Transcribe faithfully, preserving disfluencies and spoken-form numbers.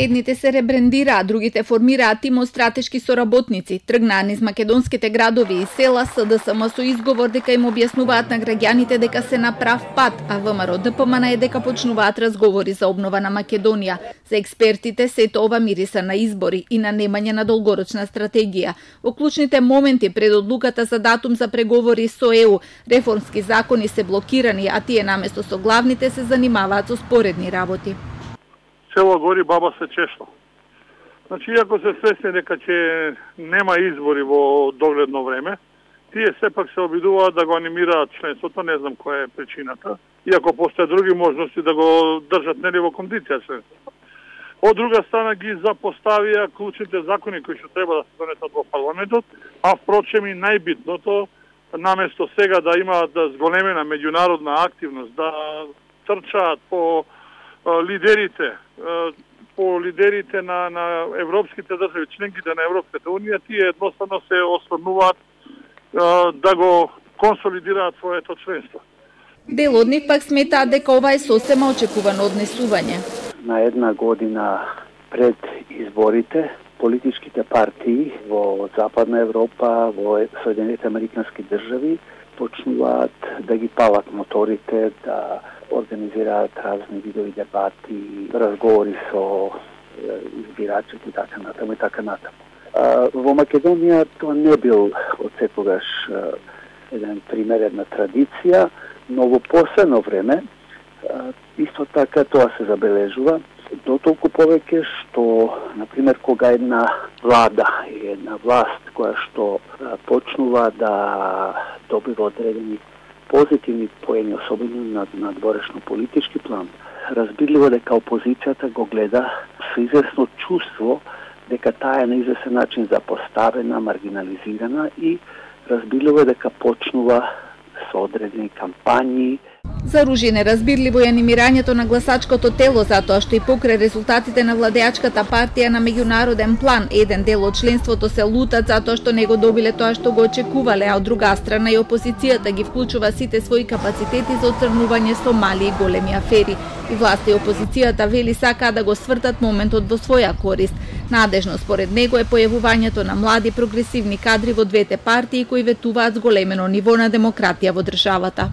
Едните се ребрендираа, другите формираат тим од стратешки соработници. Тргнаа низ македонските градови и села, СДСМ со изговор дека им објаснуваат на граѓаните дека се на прав пат, а ВМРО ДПМН е дека почнуваат разговори за обнова на Македонија. За експертите сето ова мириса на избори и на немање на долгорочна стратегија. Во клучните моменти пред одлуката за датум за преговори со Е У, реформски закони се блокирани, а тие наместо со главните се занимаваат со споредни работи. Село гори, баба се чешла. Значи, иако се свесни дека ќе нема избори во догледно време, тие сепак се обидуваат да го анимираат членството, не знам која е причината, иако постојат други можности да го држат нели во кондиција членството. Од друга страна ги запоставија клучните закони кои што треба да се донесат во парламентот, а впрочем и најбитното, наместо сега да имаат да зголемена меѓународна активност, да трчаат по лидерите, по лидерите на, на европските држави, членките на Европската унија, тие едноставно се осврнуваат да го консолидираат своето членство. Дел од нив пак сметаат дека ова е сосема очекувано однесување. На една година пред изборите, политичките партии во Западна Европа, во Соединените Американски држави почнуваат да ги палат моторите, да организираат разни видови дебати, разговори со избирачите и така натаму и така натаму. Во Македонија тоа не бил од секогаш еден пример, една традиција, но во последно време исто така тоа се забележува, дотолку повеќе што, например, кога една влада и една власт која што почнува да добива одредени позитивни поени, особено на, на дворешно политички план, разбирливо дека опозицијата го гледа со известно чувство дека таа е на известен начин запоставена, маргинализирана и разбирливо дека почнува со одредени кампањи. За Ружин е разбирливо и анимирањето на гласачкото тело, затоа што и покрај резултатите на владеачката партија на меѓународен план, еден дел од членството се лутат затоа што не го добиле тоа што го очекувале, а од друга страна и опозицијата ги вклучува сите своји капацитети за оцрнување со мали и големи афери. И власта и опозицијата вели сакаа да го свртат моментот во своја корист. Надежно според него е појавувањето на млади прогресивни кадри во двете партии кои ветуваат зголемено ниво на демократија во државата.